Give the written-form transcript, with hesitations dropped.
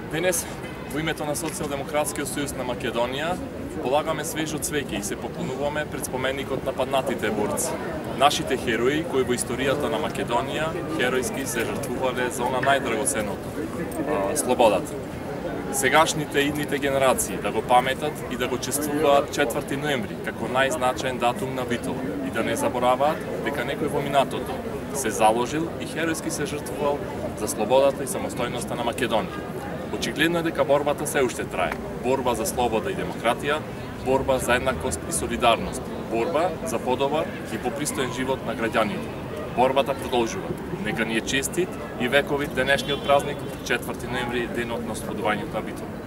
Денес, во името на Социјалдемократскиот сојуз на Македонија, полагаме свежо цвеќе и се поклонуваме пред споменикот на паднатите борци. Нашите херои, кои во историјата на Македонија херојски се жртвувале за она најдрагоценното – слободата. Сегашните и идните генерации да го паметат и да го чествуваат 4 ноември како најзначаен датум на битова и да не забораваат дека некој во минатото се заложил и херојски се жртвувал за слободата и самостојноста на Македонија. Очигледно е дека борбата се уште трае. Борба за слобода и демократија, борба за еднакост и солидарност, борба за подобар и попристоен живот на граѓаните. Борбата продолжува. Нека ни е честит и вековит денешниот празник, 4 ноември, денот на ослободувањето на битова.